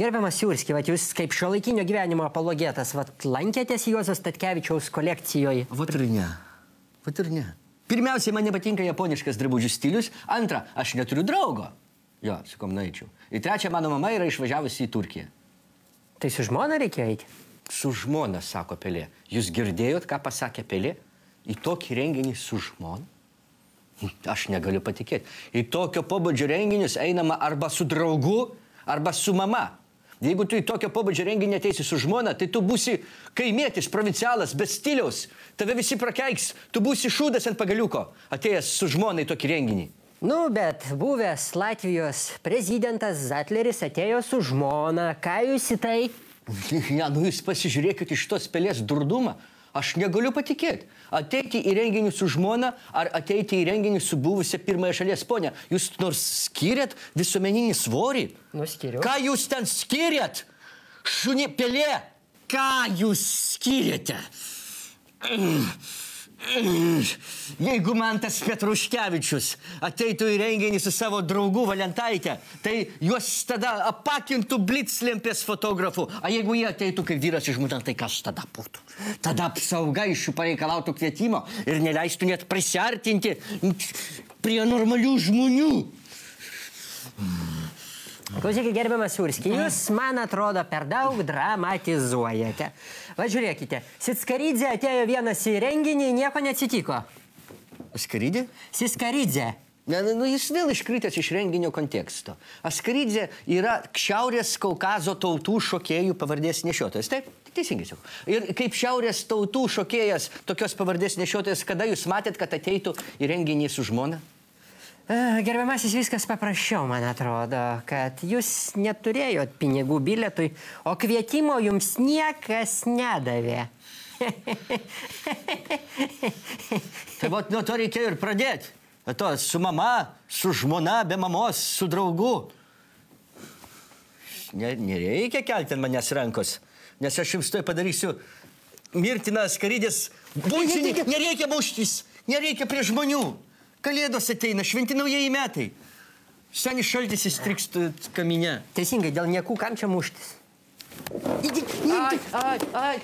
Gerbiamas Jurski, jūs kaip šiuolaikinio gyvenimo apologetas, lankėtės Juozo Statkevičiaus kolekcijoje? Vat ir ne. Pirmiausiai, man nepatinka japoniškas drabužių stilius. Antra, aš neturiu draugo. Jo, su kom nueičiau. Ir trečia, mano mama yra išvažiavusi į Turkiją. Tai su žmona reikėjo eiti? Su žmona, sako Pelė. Jūs girdėjot, ką pasakė Pelė? Į tokį renginį su žmona? Aš negaliu patikėti. Į tokio pobūdžio renginius einama arba su draugu, arba su mama. Jeigu tu į tokio pobūdžio renginį ateisi su žmona, tai tu būsi kaimietis, provincialas, be stiliaus. Tave visi prakeiks. Tu būsi šūdas ant pagaliuko, atėjęs su žmona į tokį renginį. Nu, bet buvęs Latvijos prezidentas Zatleris atėjo su žmona. Ką jūs į tai? Ja, nu jūs pasižiūrėkit iš tos Pelės durdumą. Aš negaliu patikėti. Ateiti į renginį su žmona ar ateiti į renginį su buvusia pirmąją šalies ponia. Jūs nors skiriat visuomeninį svorį? Nu, skiriu. Ką jūs ten skiriat? Šunė Pelė, ką jūs skiriate? Jeigu man tas Petruškevičius ateitų į renginį su savo draugu Valentaitė, tai juos tada apakintų bliclempės fotografų. A jeigu jie ateitų kaip vyras iš žmona, tai kas tada būtų? Tada apsauga iš jų pareikalautų kvietimo ir neleistų net prisiartinti prie normalių žmonių. Klausykit, gerbiamas Jurski, jūs, man atrodo, per daug dramatizuojate. Va, žiūrėkite, Sitskaridze atėjo vienas į renginį, nieko neatsitiko. Askaridė? Sitskaridze. Nu, jis vėl iškritęs iš renginio konteksto. Askaridze yra Šiaurės Kaukazo tautų šokėjų pavardės nešiotojas. Taip? Teisingai sakau. Ir kaip Šiaurės tautų šokėjas, tokios pavardės nešiotojas, kada jūs matėt, kad ateitų į renginį su žmona? Gerbiamasis, viskas paprasčiau, man atrodo, kad jūs neturėjot pinigų bilietui, o kvietimo jums niekas nedavė. Tai vat nuo to reikėjo ir pradėti. To su mama, su žmona, be mamos, su draugu. Nereikia kelti ant manęs rankos, nes aš jums tai padarysiu mirtiną Askaridės bučinį. Nereikia muštis, nereikia prie žmonių. Kalėdos ateina, šventi naujieji metai. Senis šaltis įstriks kaminę. Teisingai, dėl niekų kam čia muštis? Ai.